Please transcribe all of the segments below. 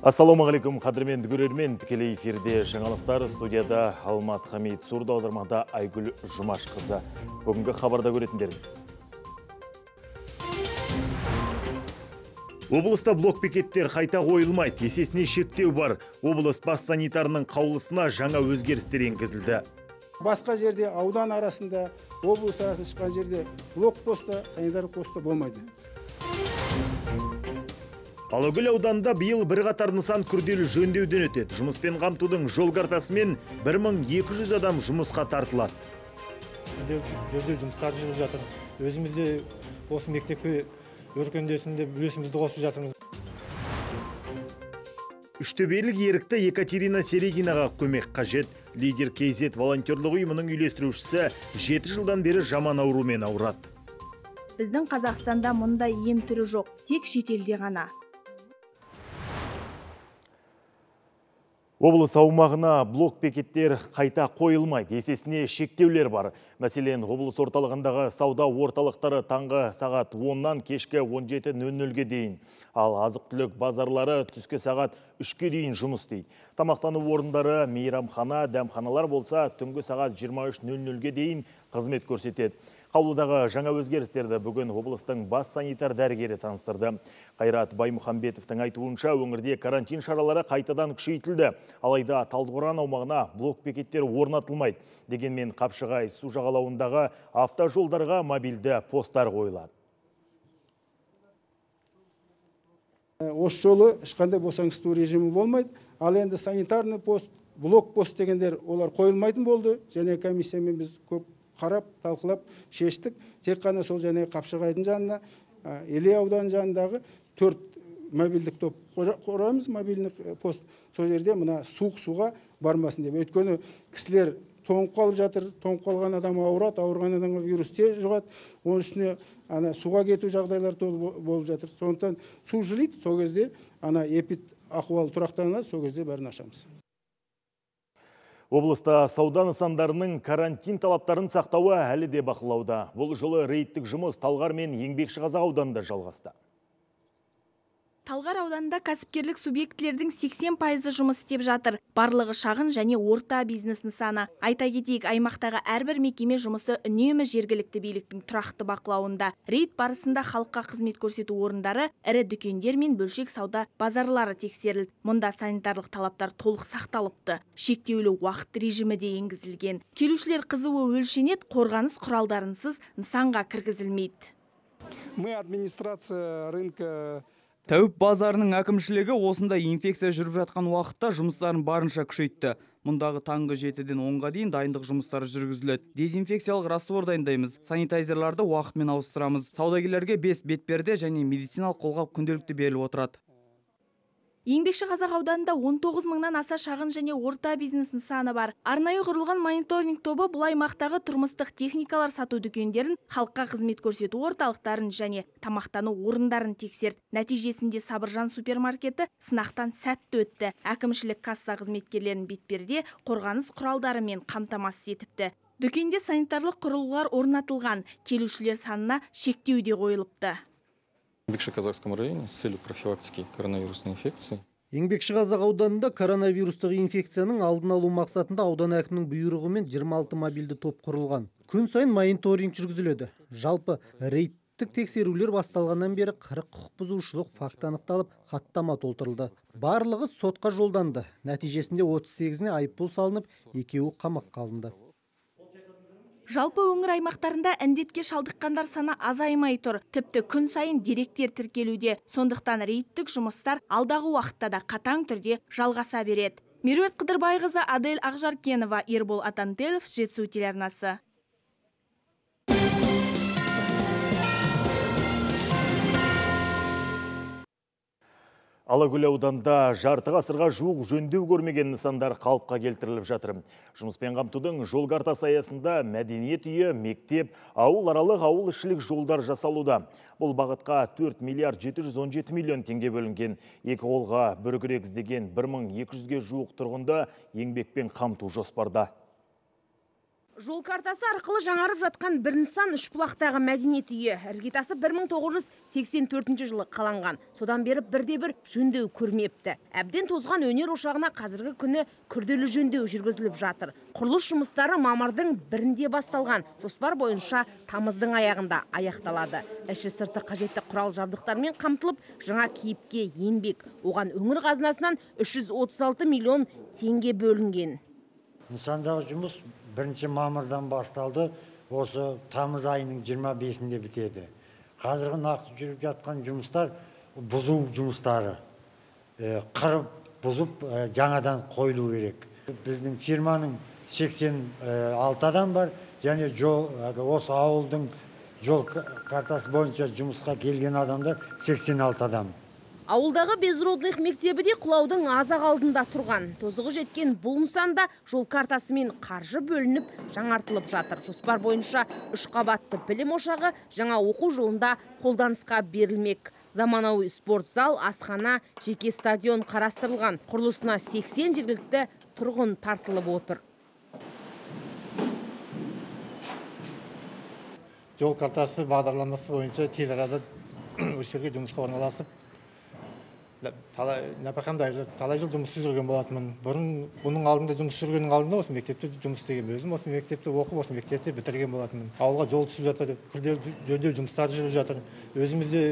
Ассалаумағалейкум, қадірменді көрермен, тікелей эфирде жаңалықтар, студияда Алмат Хамид, сурда аудармада Айгүл Жұмашқызы. Бүгінгі хабарда көретіндеріңіз. Облыста блокбекеттер қайта қойылмайды, есесіне шектеу бар. Облыс бас санитарының қаулысына жаңа өзгерістер енгізілді. Басқа жерде аудан арасында, облыс арасында шыққан жерде блокпостта, санитар постта болмайды. Алакөл ауданында биыл бірқатар нысан күрделі жөндеуден өтеді. Жұмыспен қамтудың жол картасымен 1200 адам жұмысқа тартылады. Жөндеу жұмыстары жүріп жатыр. Өзімізде осы мектепке өркендесінде үлесімізді қосып жатырмыз. Үштөбелік ерікті Екатерина Серегинаға көмек қажет. Лидер КЗ волонтерлық ұйымының үйлестірушісі 7 жылдан бері жаман аурумен ауырады. Біздің Қазақстанда мұндай ем түрі жоқ, тек шетелде ғана. Облыс аумағына блокбекеттер қайта қойылмайды, есесіне шектеулер бар. Мәселен, облыс орталығындағы сауда орталықтары таңғы сағат 10-нан кешкі 17:00-ге дейін. Ал азық-түлік базарлары түскі сағат 3-ке дейін жұмыс істейді. Тамақтану орындары, мейрамхана, дәмханалар болса түнгі сағат 23:00-ге дейін қызмет көрсетеді. Қаулыдағы жаңа өзгерістерді бүгін облыстың бас санитар дәрігері таныстырды. Қайрат Баймұхамбетовтың айтуынша өңірде карантин шаралары қайтадан күшейтілді. Алайда Талдықорған аумағына блокбекеттер орнатылмайды. Дегенмен Қапшығай су жағалауындағы автожолдарға мобильді посттар қойылады. Осы жолы ешқандай босаңсыту режимі болмайды. Ал енді санитарный пост, блокпост дегендер олар қойылмайтын болды. Және комиссиямен біз көп қарап, талқылап, шештік. Тек қана сол және Қапшығайдың жанына, Іле ауданының жанындағы 4 мобильдік топ құрамыз, мобильдік пост. Сол жерде мына суық суға бармасын деп. Өйткені кісілер тоңып қалып жатыр, тоңып қалған адам ауырады, ауырған адамға вирус тез жұғады. Оның үстіне суға кету жағдайлар болып жатыр. Сондықтан су жылиды, сол кезде эпид ахуал тұрақтанады, сол кезде бәрін ашамыз. Облыста сауда нысандарының карантин талаптарын сақтауы әлі де бақылауда. Бұл жылы рейдтік жұмыс Талғар мен Еңбекшіқазақ ауданында жалғасты. Талғар ауданында кәсіпкерлік субъектілердің 80% жұмыс істеп жатыр. Барлығы шағын және орта бизнес нысаны. Айта кетейік, аймақтағы әрбір мекеме жұмысы үнемі жергілікті биліктің тұрақты бақылауында. Рейд барысында халыққа қызмет көрсету орындары, ірі дүкендер мен бөлшек сауда базарлары тексерілді. Мұнда санитарлық талаптар толық сақталыпты. Шектеулі уақыт режимі де енгізілген. Келушілер қызуы өлшенеді, қорғаныс құралдарынсыз нысанға кіргізілмейді. Мы администрация рынка Тәуіп базарының әкімшілігі осында инфекция жүріп жатқан уақытта жұмыстарын барынша күшейтті. Мұндағы таңғы 7-ден 10-ға дейін дайындық жұмыстары жүргізіледі. Дезинфекциялық раствор дайындаймыз, санитайзерларды уақытымен ауыстырамыз. Саудагерлерге 5 бетперде және медициналық қолғап күнделікті беріліп отырады. Еңбекшіқазақ ауданында 19 мыңнан аса шағын және орта бизнес нысаны бар. Арнайы құрылған мониторинг тобы бұл аймақтағы тұрмыстық техникалар сату дүкендерін, халыққа қызмет көрсету орталықтарын және тамақтану орындарын тексерді. Нәтижесінде Сабыржан супермаркеті сынақтан сәтті өтті. Әкімшілік касса қызметкерлерін бетперде, қорғаныс құралдарымен қамтамасыз етіпті. Дүкенде санитарлық құрылғылар орнатылған, келушілер санына шектеу де қойылыпты. В Еңбекшіқазақском районе с целью профилактики коронавирусной инфекции. Еңбекшіқазақ ауданында коронавирустық инфекцияның алдын алу мақсатында аудан әкімінің бұйрығымен 26 мобильді топ құрылған. Күн сайын мониторинг жүргізіледі. Жалпы рейдтік тексерулер басталғаннан бері 40 құқық бұзушылық факті анықталып, хаттама толтырылды. Барлығы сотқа жолданды. Нәтижесінде 38-не айыппұл салынып, 2-і қамаққа алынды. Жалпы өңір аймақтарында індетке шалдыққандар саны азаймай тұр. Тіпті күн сайын деректер тіркелуде. Сондықтан рейдтік жұмыстар алдағы уақытта да қатаң түрде жалғаса береді. Меруерт Қыдырбайқызы, Адель Ақжаркенова, Ербол Атантелов, Жетісу телеарнасы. Алакөл ауданда жарты ғасырға жуық жөндеу көрмеген нысандар қалыпқа келтіріліп жатыр. Жұмыспен қамтудың жол картасы аясында мәдениет үйі, мектеп, ауыл-аралық ауыл-ішілік жолдар жасалуда. Бұл бағытқа 4 миллиард 717 миллион теңге бөлінген. Екі қолға бір күрек іздеген 1200-ге жуық тұрғынды еңбекпен қамту жоспарда. Жол картасы арқылы жаңарып жатқан бір нысан Үшбұлақтағы мәдениет үйі. Іргетасы 1984 жылы қаланған. Содан бері бірде-бір жөндеу көрмепті. Әбден тозған өнер ошағына қазіргі күні күрделі жөндеу жүргізіліп жатыр. Құрылыс жұмыстары мамырдың 1-інде басталған. Жоспар бойынша тамыздың аяғында аяқталады. Іші сырты қажетті құрал жабдықтармен қамтылып, жаңа кейіпке енбек. Оған өңір қазынасынан 336 миллион теңге бөлінген. Нысандағы жұмыс 1 мамырдан басталды, осы тамыз айының 25-інде бітеді. Қазіргі нақты жүріп жатқан жұмыстар бұзу жұмыстары. Қырып, бұзып, жаңадан қойылу керек. Біздің фирманың 86 адам бар, және осы ауылдың жол картасы бойынша жұмысқа келген адамдар 86 адам. Ауылдағы Безродных мектебі де құлаудың азақ алдында тұрған. Тозығы жеткен бұл нысанда жол картасымен қаржы бөлініп жаңартылып жатыр. Жоспар бойынша 3 қабатты білім ошағы жаңа оқу жылында қолданысқа берілмек. Заманауи спорт зал, асхана, жеке стадион қарастырылған. Құрылысына 80 жергілікті тұрғын тартылып отыр. Жол картасы бағдарламасы бойынша тез арада өшерге жұмысқа орналасып, талай жыл жұмыссыз жүрген болатынмын. Бұрын бұның алдында жұмыс жүргеннің алдында осы мектепте жұмыс істеген, өзім осы мектепте оқып, осы мектепте бітірген болатынмын. Ауылға жол түсіп жатыр, күрделі жөндеу жұмыстары жүріп жатыр. Өзіміз де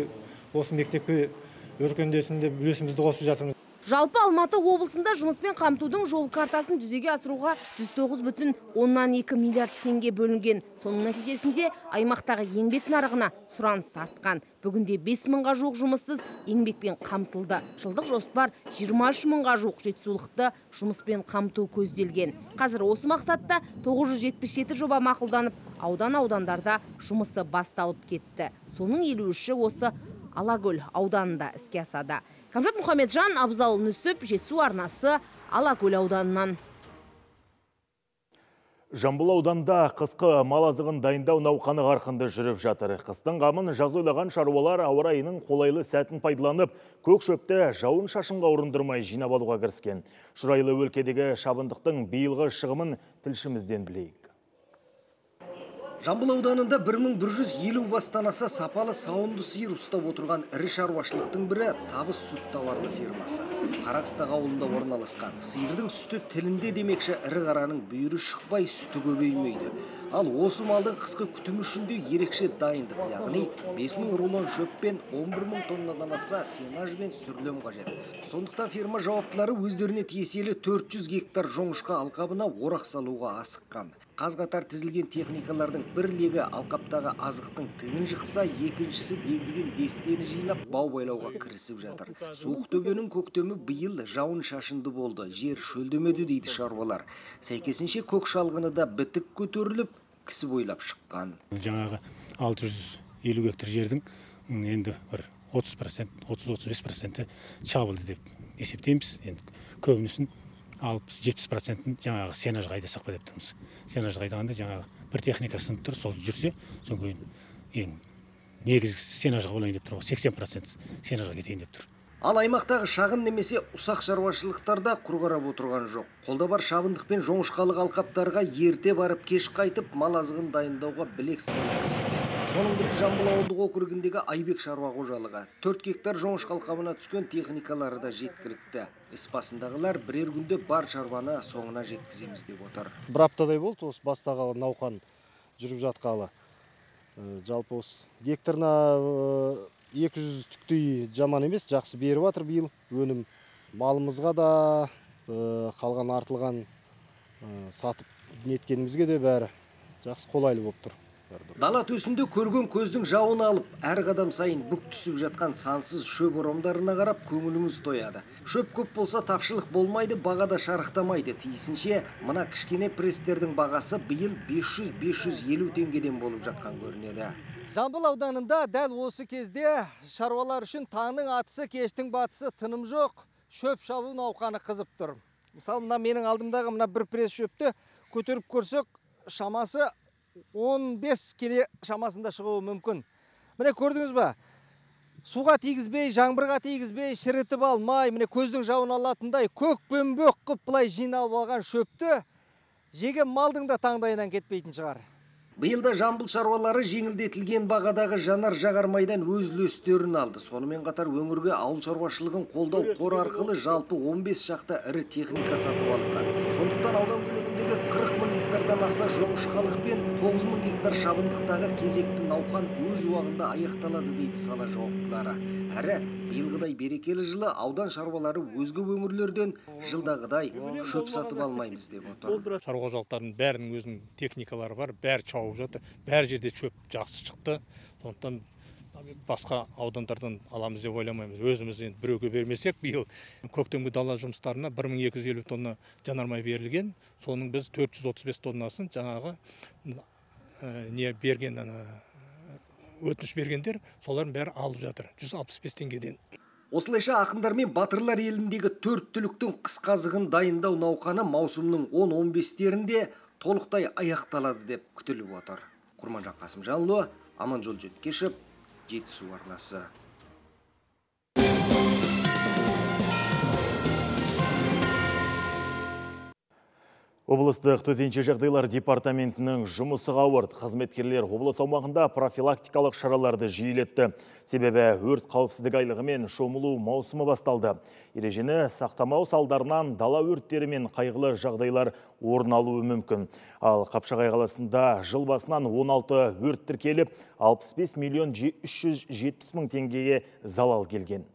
осы мектепке өркендесінде үлесімізді қосып жатырмыз. Жалпы Алматы облысында жұмыспен қамтудың жол картасын жүзеге асыруға 109,2 миллиард теңге бөлінген. Соның нәтижесінде аймақтағы еңбек нарығына сұраныс артқан. Бүгінде 5 мыңға жуық жұмыссыз еңбекпен қамтылды. Жылдық жоспар 23 мыңға жуық жетісулықты жұмыспен қамту көзделген. Қазір осы мақсатта 977 жоба мақұлданып, аудандарда жұмысы басталып кетті. Соның 53-і осы Алакөл ауданында іске асады. Камжат Мұхамеджан, Абзал Нүсіп, Жетісу арнасы, Алакөл ауданынан. Жамбыл ауданында қысқы мал азығын дайындау науқаны қарқынды жүріп жатыр. Қыстың қамын жаз ойлаған шаруалар ауа райының қолайлы сәтін пайдаланып, көк шөпті жауын шашынға ұрындырмай жинап алуға кіріскен. Шұрайлы өлкедегі шабындықтың биылғы шығымын тілшімізден білейік. Жамбыл ауданында 1150 бастан аса сапалы сауынды сиыр ұстап отырған ірі шаруашылықтың бірі Табыс сүт тауарлы фирмасы. Қарақыстақ ауылында орналасқан. Сиырдың сүті тілінде демекші ірі қараның бүйірі шықпай, сүті көбеймейді. Ал осы малдың қысқы күтімі үшін де ерекше дайындық, яғни 5000 рулон шөп пен 11000 тоннадан аса сенаж бен сүрлем қажет. Сондықтан фирма жауаптылары өздеріне тиесілі 400 гектар жоңышқа алқабына орақ салуға асыққан. Қаз-қатар тізілген техникалардың бір легі алқаптағы азықтың тігін жықса, екіншісі дегдеген дестені жинап бау байлауға кірісіп жатыр. Суық төбенің көктемі биыл жауын шашынды болды, жер шөлдемеді дейді шаруалар. Сәйкесінше көк шалғыны да бітік көтеріліп, кісі бойлап шыққан. Жаңағы 650 гектар жердің енді бір 30%, 30-35% шабылды деп есептейміз. Енді көбінісін 60-70%-ын жаңағы сенаж қайдасақ па деп тұрмыз. Сенаж қайдағанда жаңағы бір техника сынып тұр, сол жүрсе, соң кейін ең негізгі сенажға болайын деп тұр, 80% сенажға кетейін деп тұр. Ал аймақтағы шағын немесе ұсақ шаруашылықтарда құр қарап отырған жоқ. Қолда бар шабындық пен жоңышқалық алқаптарға ерте барып кеш қайтып мал азығын дайындауға білек сыбана кіріскен. Соның бірі Жамбыл ауылдық округіндегі Айбек шаруа қожалығы. 4 гектар жоңышқа алқабына түскен техникалары да жеткілікті. Іс басындағылар бірер күнде бар шаруаны соңына жеткіземіз деп отыр. Бір аптадай болды осы бастағы науқан жүріп жатқалы. Жалпы осы гектарына 200 түктей жаман емес, жақсы беріп жатыр биыл. Өнім малымызға да, қалған артылған сатып неткенімізге де бәрі жақсы қолайлы болып тұр. Дала төсінде көрген көздің жауын алып, әр қадам сайын бүк түсіп жатқан сансыз шөп орамдарына қарап көңіліңіз тояды. Шөп көп болса тапшылық болмайды, бағада шарықтамайды. Тиісінше мына кішкене престердің бағасы биыл 500-550 теңгеден болып жатқан көрінеді. Жамбыл ауданында дәл осы кезде шаруалар үшін таңның атысы, кештің батысы тыным жоқ, шөп шабу науқаны қызып тұр. Мысалы, мына менің алдымдағы мына бір пресс шөпті көтеріп көрсек, шамасы 15 келе шамасында шығуы мүмкін. Міне көрдіңіз ба? Суға тигізбей, жаңбырға тигізбей, шірітіп алмай, міне көздің жауын алатындай көк пен бөк қып бұлай жиналып алған шөпті жеген малдың да таңдайынан кетпейтін шығар. Биылда Жамбыл шаруалары жеңілдетілген бағадағы жанар жағармайдан өз үлестерін алды. Сонымен қатар өңірге ауыл шаруашылығын қолдау қоры арқылы жалпы 15 шақты ірі техника сатып алынған. Сондықтан аудан көлеміндегі 40 мың гектардан аса жоңышқалық пен 9 мың гектар шабындықтағы кезекті науқан өз уақытында аяқталады дейді сала жауаптылары. Әрі биылғыдай берекелі жылы аудан шаруалары өзге өңірлерден жылдағыдай шөп сатып алмаймыз деп отыр. Шаруа қожалықтарының бәрінің өзінің техникалары бар, бәрі шауып жатыр. Бәр жерде шөп жақсы шықты. Сондықтан басқа аудандардан аламыз деп ойламаймыз. Өзіміз енді біреуге бермесек, биыл көктемгі дала жұмыстарына 1250 тонна жанармай берілген. Соның біз 435 тоннасын жаңағы өтініш бергендер, солардың бәрі алып жатыр. 165 теңгеден. Осылайша ақындар мен батырлар еліндегі 4 түліктің қысқазығын дайындау науқаны маусымның 10-15-терінде толықтай аяқталады деп күтіліп отыр. Құрманжан Қасымжанұлы, Аманжол Жеткешев, Жетісу арнасы. Облыстық төтенше жағдайлар департаментінің жұмысы ауырды. Қызметкерлер облыс аумағында профилактикалық шараларды жиілетті. Себебі өрт қауіпсіздік айлығы мен шомылу маусымы басталды. Ережені сақтамау салдарынан дала өрттері мен қайғылы жағдайлар орын алуы мүмкін. Ал Қапшағай қаласында жыл басынан 16 өрт тіркеліп, 65 миллион 370 мың теңгеге залал келген.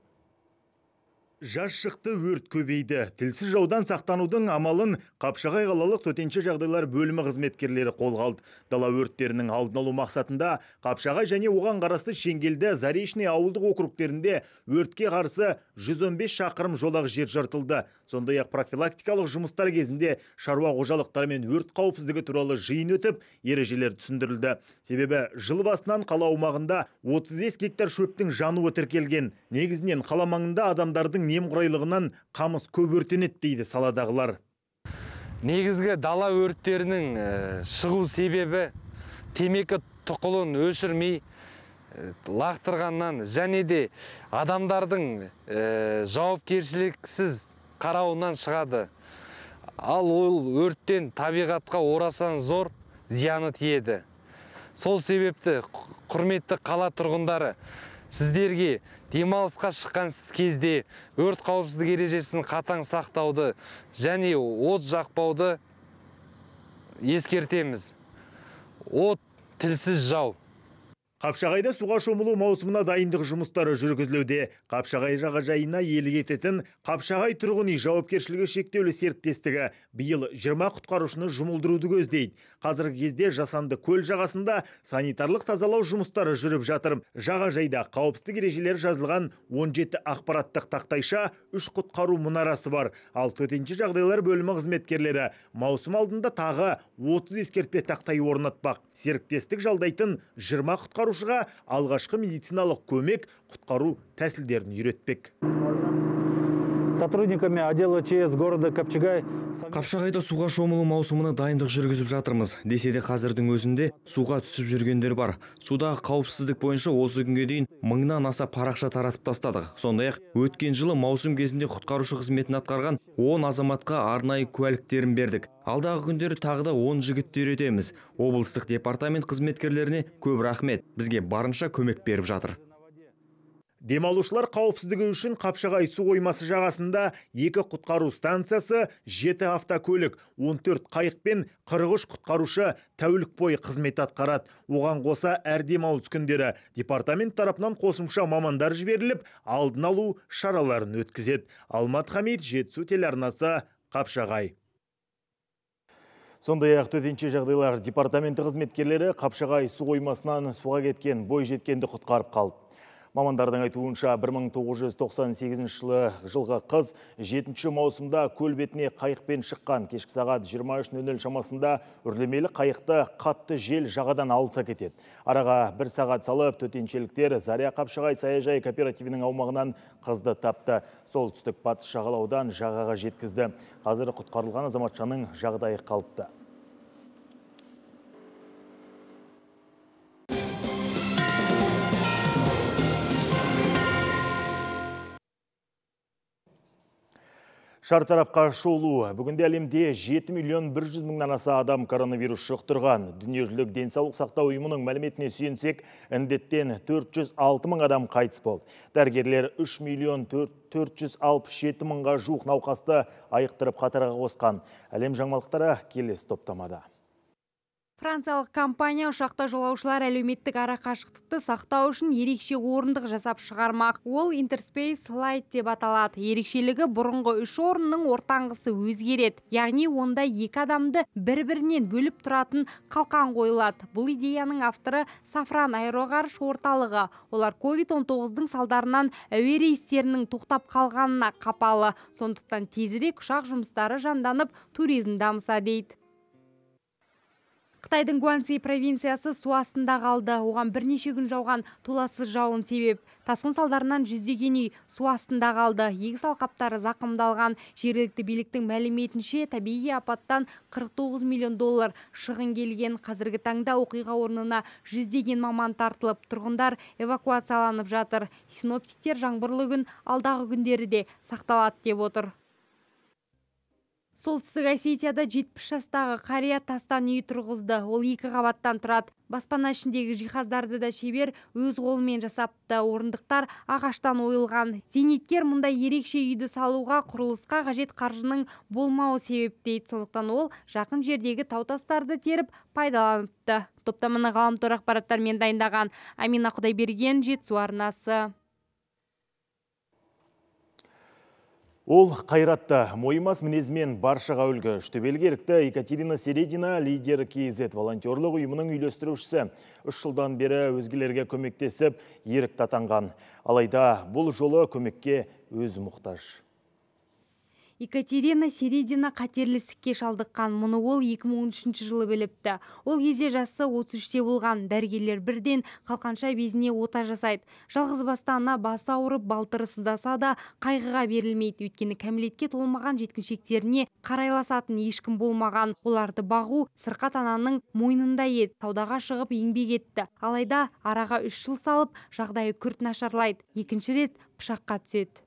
Жаз шықты, өрт көбейді. Тілсіз жаудан сақтанудың амалын Қапшағай қалалық төтенше жағдайлар бөлімі қызметкерлері қолға алды. Дала өрттерінің алдын алу мақсатында Қапшағай және оған қарасты Шеңгелді, Заречный ауылдық округтерінде өртке қарсы 115 шақырым жолақ жер жыртылды. Сондай-ақ профилактикалық жұмыстар кезінде шаруа қожалықтарымен өрт қауіпсіздігі туралы жиын өтіп, ережелер түсіндірілді. Себебі жыл басынан қала аумағында 35 гектар шөптің жануы тіркелген. Негізінен қала маңында адамдардың немқұрайлығынан қамыс көп өртенеді дейді саладағылар. Негізгі дала өрттерінің шығу себебі темекі тұқылын өшірмей лақтырғаннан және де адамдардың жауапкершіліксіз қарауынан шығады. Ал ол өрттен табиғатқа орасан зор зияны тиеді. Сол себепті құрметті қала тұрғындары, сіздерге демалысқа шыққан кезде өрт қауіпсіздік ережесін қатаң сақтауды және от жақпауды ескертеміз. От тілсіз жау. Қапшағайда суға шомылу маусымына дайындық жұмыстары жүргізілуде. Қапшағай жағажайына иелік ететін Қапшағай тұрғын үй жауапкершілігі шектеулі серіктестігі биыл 20 құтқарушыны жұмылдыруды көздейді. Қазіргі кезде жасанды көл жағасында санитарлық тазалау жұмыстары жүріп жатыр. Жағажайда қауіпсіздік ережелері жазылған 17 ақпараттық тақтайша, 3 құтқару мұнарасы бар. Ал төтенше жағдайлар бөлімі қызметкерлері маусым алдында тағы 30 ескертпе тақтай орнатпақ. Серіктестік жалдайтын 20 құтқарушыға алғашқы медициналық көмек, құтқару тәсілдерін үйретпек. Сотрудниками отдела ЧС города Қапшағай. Қапшағайда суға шомылу маусымына дайындық жүргізіп жатырмыз. Десе де қазірдің өзінде суға түсіп жүргендер бар. Судағы қауіпсіздік бойынша осы күнге дейін 1000-нан аса парақша таратып тастадық. Сондай-ақ өткен жылы маусым кезінде құтқарушы қызметін атқарған 10 азаматқа арнайы куәліктерін бердік. Алдағы күндері тағы да 10 жігітті үйретеміз. Облыстық департамент қызметкерлеріне көп рахмет. Бізге барынша көмек беріп жатыр. Демалушылар қауіпсіздігі үшін Қапшағай су қоймасы жағасында 2 құтқару станциясы, 7 автокөлік, 14 қайық пен 43 құтқарушы тәулік бойы қызмет атқарады. Оған қоса әр демалыс күндері департамент тарапынан қосымша мамандар жіберіліп, алдын алу шараларын өткізеді. Алмат Хамид, Жетісу телеарнасы, Қапшағай. Сондай-ақ төтенше жағдайлар департаменті қызметкерлері Қапшағай су қоймасынан суға кеткен бойжеткенді құтқарып қалды. Мамандардың айтуынша 1998 жылғы қыз 7 маусымда көл бетіне қайықпен шыққан. Кешкі сағат 23:00 шамасында үрлемелі қайықты қатты жел жағадан алса кетеді. Араға 1 сағат салып, төтеншеліктер Заря Қапшағай саяжай кооперативінің аумағынан қызды тапты. Солтүстік батыс жағалаудан жағаға жеткізді. Қазір құтқарылған азаматшаның жағдайы қалыпты. Шартарапқа шолу. Бүгінде әлемде 7 миллион 100 мыңнан аса адам коронавирус жұқтырған. Дүниежүзілік денсаулық сақтау ұйымының мәліметіне сүйенсек, індеттен 406 мың адам қайтыс болды. Дәрігерлер 3 миллион 467 мыңға жуық науқасты айықтырып қатарға қосқан. Әлем жаңалықтары келесі топтамада. Франциялық компания ұшақта жолаушылар әлеуметтік арақашықтықты сақтау үшін ерекше орындық жасап шығармақ. Ол Interspace Light деп аталады. Ерекшелігі бұрынғы 3 орынның ортаңғысы өзгереді. Яғни онда 2 адамды бір-бірінен бөліп тұратын қалқан қойылады. Бұл идеяның авторы Сафран аэроғарыш орталығы. Олар COVID-19-дың салдарынан әуе рейстерінің тоқтап қалғанына қапалы. Сондықтан тезірек ұшақ жұмыстары жанданып, туризм дамыса дейді. Қытайдың Гуанси провинциясы су астында қалды. Оған бірнеше күн жауған толассыз жауын себеп. Тасқын салдарынан жүздеген үй су астында қалды. Егіс алқаптары зақымдалған. Жергілікті биліктің мәліметінше табиғи апаттан 49 миллион доллар шығын келген. Қазіргі таңда оқиға орнына жүздеген маман тартылып, тұрғындар эвакуацияланып жатыр. Синоптиктер жаңбырлы күн алдағы күндері де сақталады деп отыр. Солтүстік Осетияда 70 жастағы қария тастан үй тұрғызды. Ол 2 қабаттан тұрады. Баспана ішіндегі жиһаздарды да шебер өз қолымен жасапты. Орындықтар ағаштан ойылған. Зейнеткер мұнда ерекше үйді салуға, құрылысқа қажет қаржының болмауы себеп дейді. Сондықтан ол жақын жердегі тау-тастарды теріп пайдаланыпты. Топтаманы ғаламтор ақпараттармен дайындаған Амина Құдайберген, Жетісу арнасы. Ол қайратты, мойымас мінезмен баршаға үлгі. Үштөбелге ерікті Екатерина Середина, лидер КЗ волонтерлық ұйымының үйлестірушісі. 3 жылдан бері өзгелерге көмектесіп, ерікті атанған. Алайда бұл жолы көмекке өзі мұқтаж. Екатерина Середина қатерлі ісікке шалдыққан. Мұны ол 2013 жылы біліпті. Ол кезде жасы 33-те болған. Дәрігерлер бірден қалқанша безіне ота жасайды. Жалғыз бастана басы ауырып, балтыры сыздаса да қайғыға берілмейді. Өйткені кәмелетке толмаған жеткіншектеріне қарайласатын ешкім болмаған. Оларды бағу сырқат ананың мойнында еді. Саудаға шығып еңбек етті. Алайда араға 3 жыл салып, жағдайы күрт нашарлайды. Екінші рет пышаққа түседі.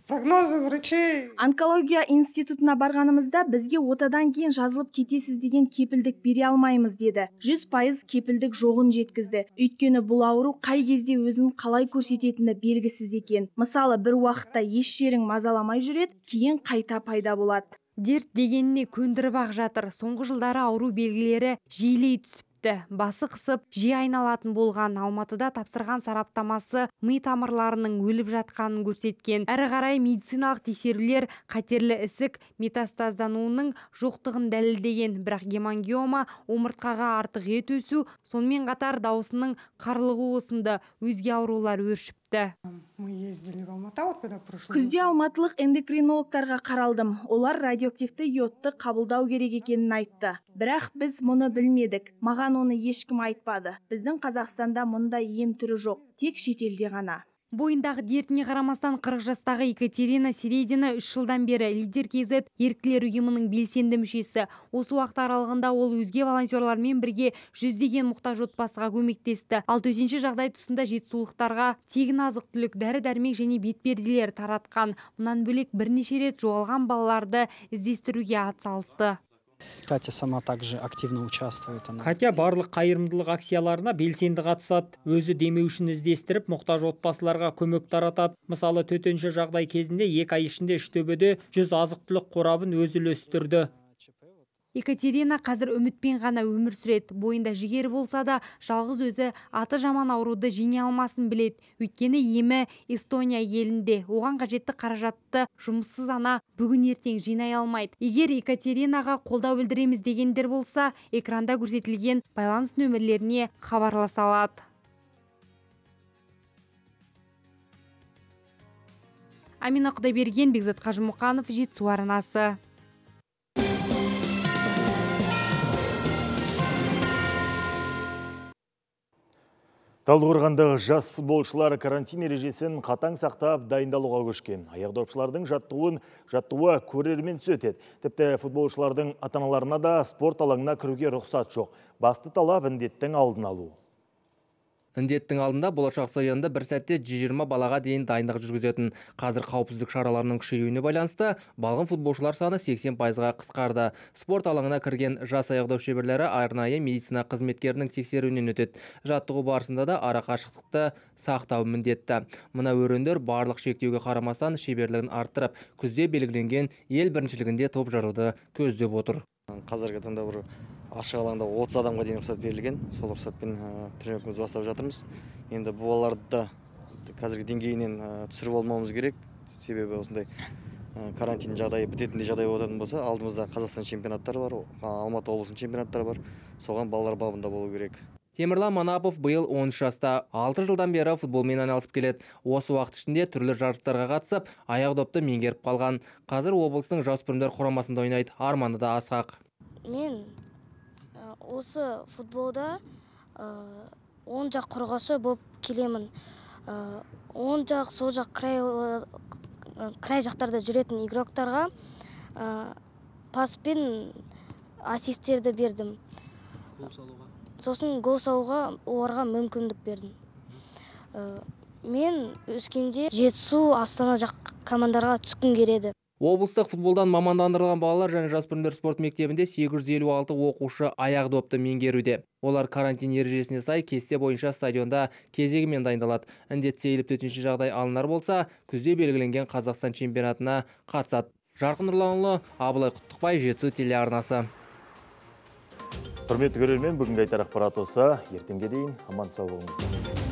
Прогнозы врачей. Онкология институтына барғанымызда бізге отадан кейін жазылып кетесіз деген кепілдік бере алмаймыз деді. 100% кепілдік жоғын жеткізді. Өйткені бұл ауру қай кезде өзін қалай көрсететіні белгісіз екен. Мысалы, бір уақытта еш жерің мазаламай жүреді, кейін қайта пайда болады. Дерт дегеніне көндіріп ақ жатыр. Соңғы жылдары ауру белгілері жиілей түсіпті. Басы қысып, жиі айналатын болған. Алматыда тапсырған сараптамасы ми тамырларының өліп жатқанын көрсеткен. Әрі қарай медициналық тексерулер қатерлі ісік метастаздануының жоқтығын дәлелдеген. Бірақ гемангиома, омыртқаға артық ет өсу, сонымен қатар даусының қарлығуы сынды өзге аурулар өршіпті. Күзде алматылық эндокринологтарға қаралдым. Олар радиоактивті йодты қабылдау керек екенін айтты. Бірақ біз мұны білмедік. Маған оны ешкім айтпады. Біздің Қазақстанда мұндай ем түрі жоқ, тек шетелде ғана. Бойындағы дертіне қарамастан 40 жастағы Екатерина Середина 3 жылдан бері лидер КЗ еріктілер ұйымының белсенді мүшесі. Осы уақыт аралығында ол өзге волонтерлармен бірге жүздеген мұқтаж отбасыға көмектесті. Ал төтенше жағдай тұсында жетісулықтарға тегін азық-түлік, дәрі-дәрмек және бетперделер таратқан. Мұнан бөлек бірнеше рет жоғалған балаларды іздестіруге атсалысты. Катя сама также активно участвует. Катя барлық қайырымдылық акцияларына белсенді қатысады. Өзі демеушін іздестіріп, мұқтаж отбасыларға көмек таратады. Мысалы, төтенше жағдай кезінде 2 ай ішінде Үштөбеде 100 азық-түлік қорабын өзі үлестірді. Екатерина қазір үмітпен ғана өмір сүреді. Бойында жігері болса да, жалғыз өзі аты жаман ауруды жеңе алмасын біледі. Өйткені емі Эстония елінде. Оған қажетті қаражатты жұмыссыз ана бүгін ертең жинай алмайды. Егер Екатеринаға қолдау білдіреміз дегендер болса, экранда көрсетілген байланыс нөмірлеріне хабарласа алады. Амина Құдайберген, Бекзат Қажымұқанов, Жетісу арнасы. Талдықорғандағы жас футболшылар карантин ережесін қатаң сақтап дайындалуға көшкен. Аяқдопшылардың жаттығуы көрермен өтеді. Тіпті футболшылардың ата-аналарына да спорт алаңына кіруге рұқсат жоқ. Басты талап індеттің алдын алу. Індеттің алдында болашақ стадионда бір сәтте 120 балаға дейін дайындық жүргізетін. Қазір қауіпсіздік шараларының күшеюіне байланысты балғын футболшылар саны 80%-ға қысқарды. Спорт алаңына кірген жас аяқдоп шеберлері арнайы медицина қызметкерінің тексеруінен өтеді. Жаттығу барысында да арақашықтықты сақтау міндетті. Мына өрендер барлық шектеуге қарамастан шеберлігін арттырып, күзде белгіленген ел біріншілігінде топ жаруды көздеп отыр. Қазіргі таңда бір ашық алаңда 30 адамға дейін рұқсат берілген. Сол рұқсатпен тренировкамызды бастап жатырмыз. Енді бұл балаларды қазіргі деңгейінен түсіріп алмауымыз керек. Себебі осындай карантин жағдайы бітетіндей жағдай болатын болса, алдымызда Қазақстан чемпионаттары бар, Алматы облысының чемпионаттары бар. Соған балалар бабында болу керек. Темірлан Манапов биыл 13 жаста, 6 жылдан бері футболмен айналысып келеді. Осы уақыт ішінде түрлі жарыстарға қатысып, аяқдопты меңгеріп қалған. Қазір облыстың жасөспірімдер құрамасында ойнайды. Арманы да асқақ. Мен осы футболда оң жақ қорғаушы болып келемін. Оң жақ, сол жақ край жақтарда жүретін игроктарға паспен ассисттерді бердім. Сосын гол салуға оларға мүмкіндік бердім. Мен өскенде Жетісу, Астана жақ командарға түскім келеді. Облыстық футболдан мамандандырылған балалар және жасөспірімдер спорт мектебінде 856 оқушы аяқдопты меңгеруде. Олар карантин ережесіне сай кесте бойынша стадионда кезегімен дайындалады. Індет сейіліп төтенше жағдай алынар болса, күзде белгіленген Қазақстан чемпионатына қатысады. Жарқын Нұрланұлы, Абылай Құттықбай, Жетісу телеарнасы. Құрметті көрермен, бүгінгі айтар ақпарат осы. Ертеңге дейін аман сау болыңыздар.